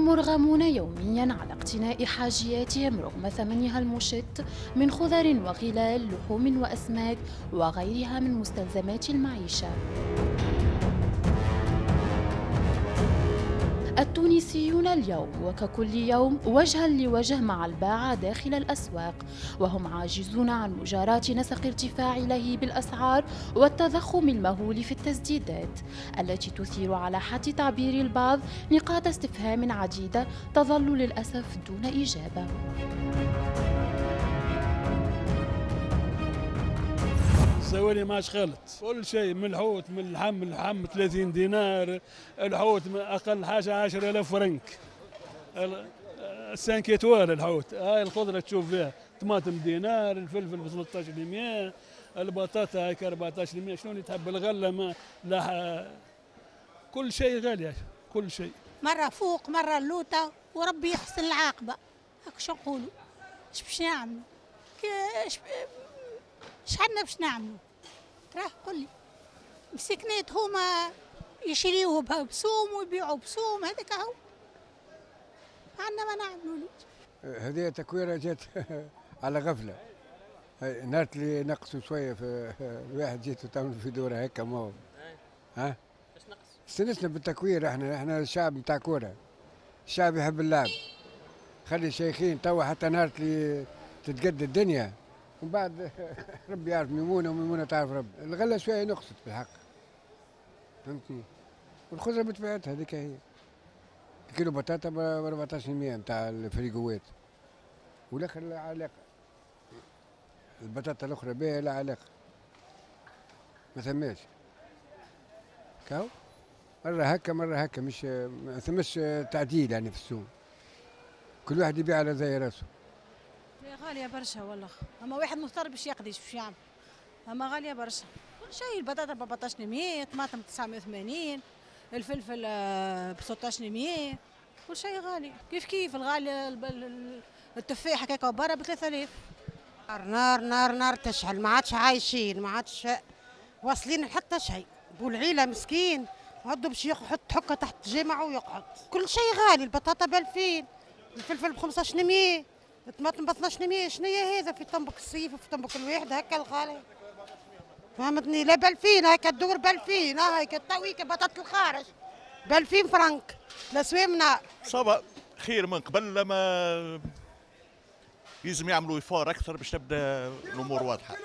هم مرغمون يوميا على اقتناء حاجياتهم رغم ثمنها المشط من خضر وغلال، لحوم وأسماك وغيرها من مستلزمات المعيشة. التونسيون اليوم وككل يوم وجها لوجه مع الباعة داخل الأسواق، وهم عاجزون عن مجاراة نسق ارتفاع لهيب الأسعار والتضخم المهول في التسديدات التي تثير على حد تعبير البعض نقاط استفهام عديدة تظل للأسف دون إجابة. الزوالي ما عادش خالط، كل شيء من الحوت من اللحم، اللحم 30 دينار، الحوت من اقل حاجة 10000 فرنك، 5 étoiles الحوت، هاي الخضرة تشوف فيها، طماطم دينار، الفلفل ب 13%، البطاطا هاك 14%، شنو اللي تحب؟ الغلة ما لا، كل شيء غالي، كل شيء. مرة فوق مرة اللوطه، وربي يحسن العاقبة، هاك شو نقولوا؟ اش باش نعملوا؟ شحالنا باش نعملوا؟ راه قل لي مسكنات هما يشريوه بسوم ويبيعوا بسوم، هذاك هو عندنا ما نعملوا. هذه تكويره جات على غفلة، نهار اللي نقصوا شوية في الواحد جيتوا تعملوا في دوره هكا، ما هو ها استنسنا بالتكوير. احنا الشعب نتاع كورة، الشعب يحب اللعب، خلي الشيخين توا حتى نهار اللي تتقد الدنيا ومن بعد ربي يعرف ميمونة وميمونه تعرف ربي. الغلة شوية نقصت بالحق، فهمتني؟ والخضره بطبيعتها هذيك هي، كيلو بطاطا ب 14% نتاع الفريقوات، والاخر لا علاقة، البطاطا الاخرى بها لا علاقة، ما ثماش كاو، مرة هكا مرة هكا، مش ما ثماش تعديل يعني في السوق، كل واحد يبيع على زي راسه. غالية برشا والله، أما واحد مضطر باش يقضي باش يعمل، أما غالية برشا، كل شيء، البطاطا ب 14%، الطماطم 980، الفلفل ب 16%، كل شيء غالي، كيف كيف الغالي التفاح هكاكا برا ب 3000. نار نار نار تشعل، ما عادش عايشين، ما عادش واصلين لحتى شيء، بو العيلة مسكين عدو باش يحط حكة تحت جامعه ويقعد، كل شيء غالي، البطاطا ب 2000، الفلفل ب 15%، الطماطم ب 12%، شنو هي هذا في طنبك الصيف وفي طنبك الواحد هكا الغالي؟ فهمتني؟ لا ب 2000 هكا الدور ب 2000، هاك التويكه بطاطا الخارج ب 2000 فرنك، الاسوام نار. ça va خير من قبل، لما لازم يعملوا effort اكثر باش تبدا الامور واضحة،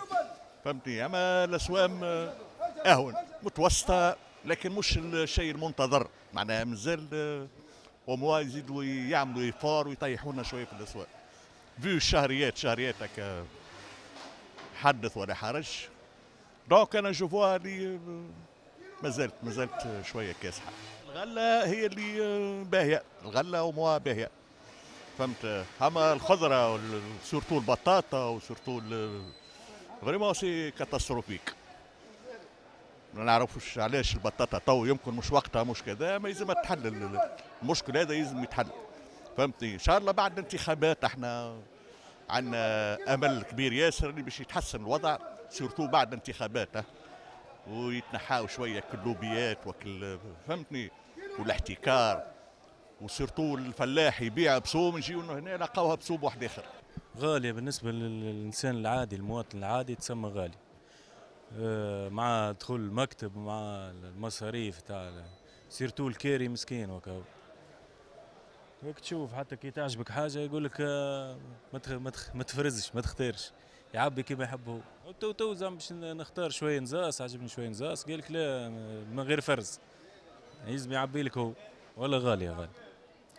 فهمتني؟ اما الاسوام اهون متوسطه، لكن مش الشيء المنتظر، معناها مازال au moins يزيدوا يعملوا effort ويطيحونا شوية في الاسواق. vu الشهريات، شهريات هكا حدث ولا حرج، donc انا je vois اللي مازالت شوية كاسحه. الغلة هي اللي باهيه، الغلة au moins باهيه، فهمت؟ اما الخضرة surtout البطاطا و surtout vraiment c'est catastrophique. ما نعرفوش علاش البطاطا تو يمكن مش وقتها، مش كذا، ما لازم تحل المشكل هذا، لازم يتحل، فهمتني؟ ان شاء الله بعد الانتخابات احنا عندنا امل كبير ياسر اللي باش يتحسن الوضع، surtout بعد الانتخابات، ويتنحاو شوية كل لوبيات وكل، فهمتني؟ والاحتكار، و surtout الفلاح يبيع بسوم، نجيو هنا لقاوها بسوم واحد اخر. غالية بالنسبة للانسان العادي، المواطن العادي تسمى غالي، مع دخول المكتب ومع المصاريف تاع surtout الكاري مسكين وكا. هيك تشوف حتى كي تعجبك حاجة يقول لك ما تفرزش، ما تختارش، يعبي كيما يحب هو. تو زعما باش نختار شوية نزاس، عجبني شوية نزاس، قال لك لا من غير فرز، يلزم يعبي لك هو. ولا غالية غالية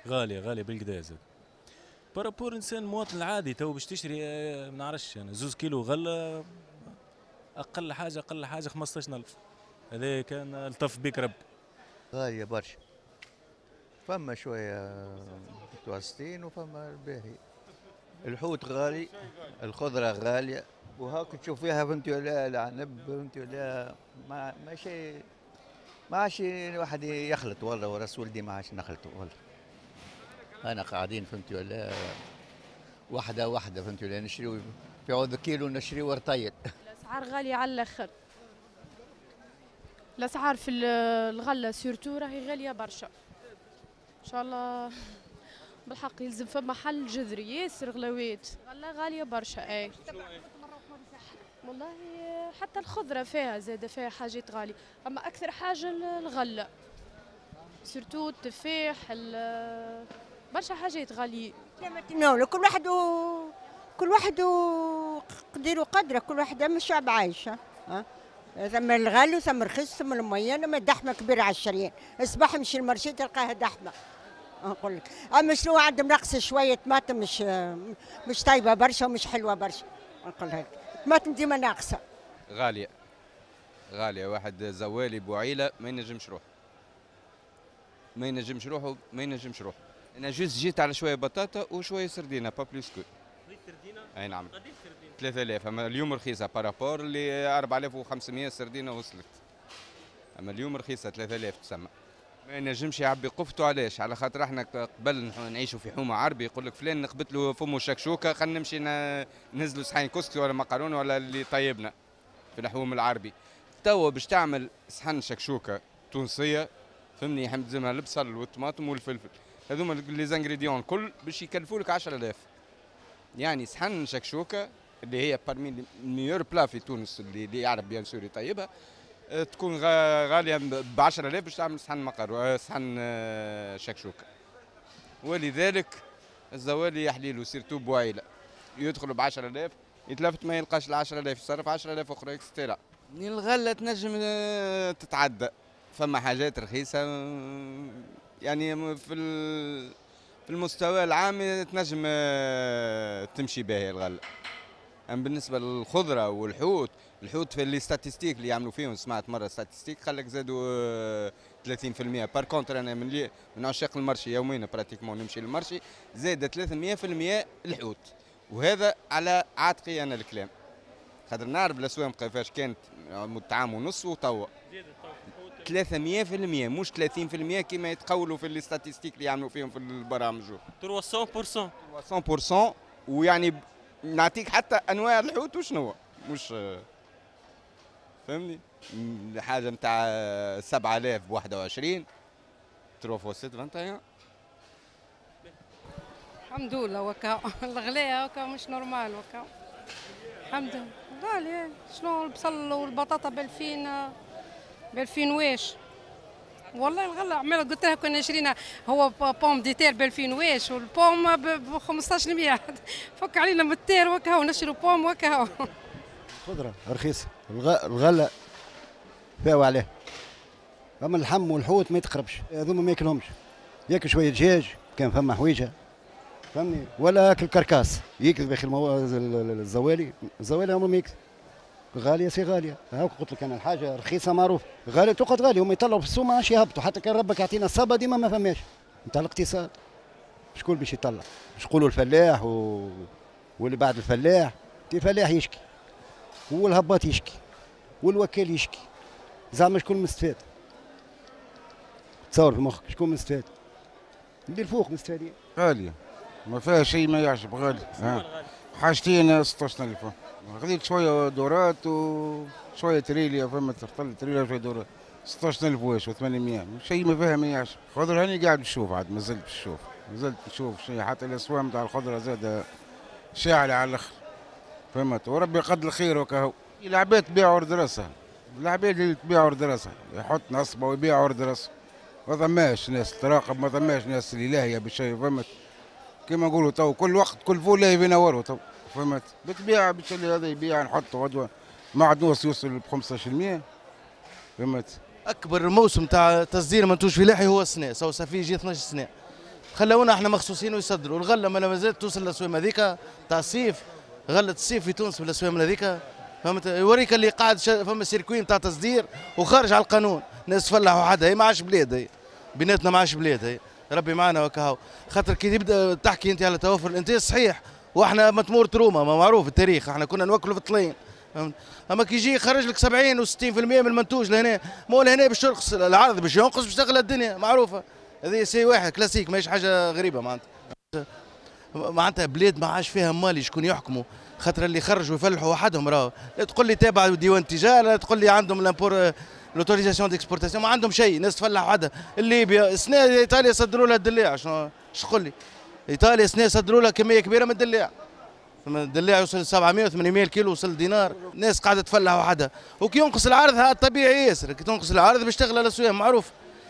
غالية غالية بالكدا زاد. par rapport انسان مواطن العادي تو باش تشري ما نعرفش انا 2 كيلو غله اقل حاجة اقل حاجة 15000، هذا كان الطف بك ربي. غالية برشا، فما شوية متوسطين وفما الباهي. الحوت غالي، الخضرة غالية، وهاك تشوف فيها فهمتي ولا العنب فهمتي ولا ما شيء، ما عادش الواحد يخلط والله، وراس ولدي ما عادش نخلط والله. انا قاعدين فهمتي ولا واحدة واحدة فهمتي ولا نشريو في عوض كيلو نشريو رطيل. الاسعار غالية على الاخر، الاسعار في الغلة surtout راهي غالية برشا. ان شاء الله بالحق يلزم فما حل جذري، ياسر غلاوات، غلا غالية برشا. اي والله حتى الخضرة فيها زادة، فيها حاجات غالية، أما أكثر حاجة الغلة، surtout التفاح، برشا حاجات غالية. كل واحد قدير وقدره، كل واحد أما الشعب عايش. ها ثم الغالي وثم الرخيص ثم الميان، أما دحمة كبيرة على الشريان، الصباح مشي ال marché تلقاها دحمة. نقول لك أما شنو عندهم نقص شوية طماطم مش طيبة برشا ومش حلوة برشا، نقول لك طماطم ديما ناقصة. غالية غالية، واحد زوالي بوعيلة ما ينجمش روحه، ما ينجمش روحه، ما ينجمش روحه. أنا juste جيت على شوية بطاطا وشوية سردينة، pas plus que. سردينة؟ أي نعم. قديش سردينة؟ 3000، أما اليوم رخيصة par rapport اللي 4500 سردينة وصلت. أما اليوم رخيصة 3000 تسمى. ما ينجمش يعبي قفته. علاش؟ على خاطر احنا قبل نعيشوا في حومه عربي، يقول لك فلان نقبت له فمه شكشوكه، خلينا نمشي ننزلوا صحين كسكسي ولا مقارونه ولا اللي طيبنا في الحوم العربي. توا باش تعمل صحن شكشوكه تونسية فهمني، حمد البصل والطماطم والفلفل، هذوما les ingrédients الكل باش يكلفوا لك 10000. يعني صحن شكشوكه اللي هي parmi meilleurs plats في تونس، اللي يعرف bien sûr يطيبها، تكون غالية ب 10000 باش تعمل صحن مقر صحن شكشوكه. ولذلك الزوالي يحليله surtout بوعيله، يدخل ب 10000 يتلفت ما يلقاش ال 10000، يصرف 10000 اخرى et cetera. الغلة تنجم تتعدى، فما حاجات رخيصة يعني في المستوى العام تنجم تمشي باهيه الغلة. اما بالنسبة للخضره والحوت، الحوت في les statistiques اللي يعملوا فيهم، سمعت مرة statistique قال لك زادوا 30%. par contre انا من عشاق ال marché، يوميا pratiquement نمشي لل marché، زاد 300% الحوت، وهذا على عاتقي انا الكلام، خاطر نعرف الاسواق كيفاش كانت مدة عام ونص وتوا 300% مش 30% كما يتقولوا في les statistiques اللي يعملوا فيهم في البرامج. 300% 300%. ويعني نعطيك حتى انواع الحوت وشنو مش فهمني، حاجة نتاع 7000 ب 21 3 fois 7 21. الحمد لله وكا الغلاء وكا مش normal وكا الحمد لله غالي. شنو البصل والبطاطا ب 2000 ب 2000 واش والله الغلا عمال قلت لها كنا شرينا هو pomme de terre ب 2000 واش وال pomme ب 1500. فك علينا من ال terre وكا نشرو pomme وكا. خضرة رخيصة، الغلة فاو عليه، اما اللحم والحوت ما يتقربش، هذوما ما ياكلهمش، ياكل شوية دجاج كان فما حويجه فهمني، ولا ياكل carcasse يكذب يا اخي. الزوالي الزوالي عمره ما يكذب. غالية c'est غالية، هاك قلت لك انا الحاجة رخيصة معروف، غالية تقعد غالية، هما يطلعوا في السوق ما عادش يهبطوا، حتى كان ربك يعطينا الصبا ديما ما فماش نتاع الاقتصاد. شكون باش يطلع؟ باش يقولوا الفلاح واللي بعد الفلاح، الفلاح يشكي والهباط يشكي والوكيل يشكي، زعما شكون مستفاد؟ تصور في مخك شكون مستفاد؟ اللي الفوق مستفادين. غالية ما فيها شيء ما يعجب، غالي. حاجتين 16000، خذيت شوية دورات وشوية تريليا، فما ترطل تريليا وشوية دورات 16000 واش و800، شيء ما فيها ما يعجب. خضرة هاني قاعد نشوف، عاد مازلت نشوف، مازلت نشوف شيء، حتى الاسوام تاع الخضرة زاد شاعلة على الاخر فهمت، وربي يقدر الخير وكهو. العباد تبيع ورد راسها، العباد اللي تبيع ورد راسها يحط نصبه ويبيع ورد راسه، ما ثماش ناس تراقب، ما ثماش ناس اللي لاهية بالشيء فهمت. كيما نقولوا تو كل وقت كل فول لاهي في نواره تو فهمت، بتبيع بالشيء هذا يبيع نحطه غدوه معدنوس يوصل ب 15% فهمت. اكبر موسم تاع تصدير منتوج فلاحي هو السنة، سو ça fait يجي 12 سنة. خلونا احنا مخصوصين ويصدروا، الغلة ما مازالت توصل للاسوام هذيك تاع الصيف، غله الصيف في تونس بالاسوام هذيك فهمت. يوريك اللي قاعد فما circuit نتاع تصدير وخارج على القانون، ناس تفلح وحدها، هي ما عادش بلاد، هي بيناتنا ما عادش بلاد، هي ربي معنا وكهو. خاطر كي تبدا تحكي انت على توفر الانتاج صحيح، واحنا متمور تروما ما معروف التاريخ، احنا كنا نوكلوا في الطلين فهمت. اما كي يجي يخرج لك 70 و60% من المنتوج لهنا، مو لهنا باش ترخص العرض باش ينقص باش تغلى الدنيا معروفة. هذه c'est واحد كلاسيك ماهيش حاجة غريبة معناتها. معناتها بلاد ما عادش فيها مالي شكون يحكموا، خاطر اللي خرجوا يفلحوا وحدهم راهو، لا تقول لي تابع ديوان التجارة، لا تقول لي عندهم l'import l'autorisation d'exportation، ما عندهم شيء، ناس تفلح وحدها. الليبيا السنة ايطاليا صدروا لها الدلاع، شنو تقول لي؟ ايطاليا سنة صدروا لها كمية كبيرة من الدلاع، الدلاع يوصل 700 800 الكيلو، وصل دينار، الناس قاعدة تفلح وحدها، وكي ينقص العرض هذا طبيعي ياسر، كي تنقص العرض باش تغلى الاسواق معروف.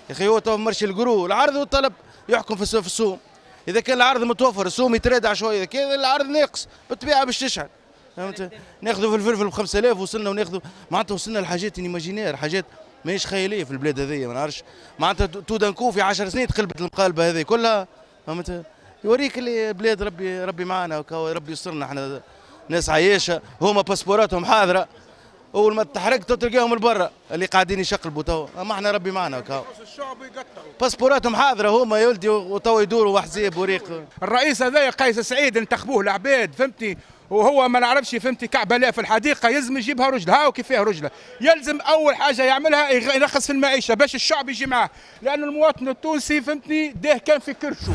يا اخي هو تو marché ال gros، العرض والطلب يحكم في السوق، اذا كان العرض متوفر السوم يترادع شوية، اذا كان العرض ناقص بالطبيعة باش تشعل. فهمت؟ ناخذوا في الفلفل ب 5000 وصلنا، وناخذوا معناتها وصلنا لحاجات inimaginaires، حاجات ماهيش خيالية في البلاد هذيا، ما نعرفش معناتها tout d'un coup في 10 سنين تقلبت المقالبه هذه كلها. فهمت؟ يوريك اللي بلاد ربي ربي معنا، ربي يسترنا، احنا ناس عايشه، هما باسبوراتهم حاضره، اول ما تحرق تلقاهم لبرا اللي قاعدين يشقلبوا توا، اما احنا ربي معنا. باسبوراتهم حاضره هما يا ولدي، وتوا يدوروا وحزيب وريق. الرئيس هذايا قيس سعيد انتخبوه العباد، فهمتني، وهو ما نعرفش فهمتي كعبه لا في الحديقة، يلزم يجيبها رجلها وكيفاه رجلها، يلزم اول حاجة يعملها يرخص في المعيشة باش الشعب يجي معاه، لان المواطن التونسي فهمتني ده كان في كرشه.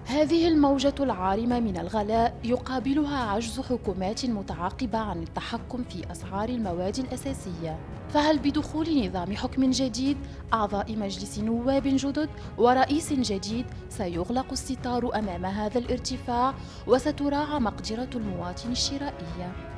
هذه الموجة العارمة من الغلاء يقابلها عجز حكومات متعاقبة عن التحكم في أسعار المواد الأساسية، فهل بدخول نظام حكم جديد، أعضاء مجلس نواب جدد ورئيس جديد سيغلق الستار أمام هذا الارتفاع وستراعى مقدرة المواطن الشرائية؟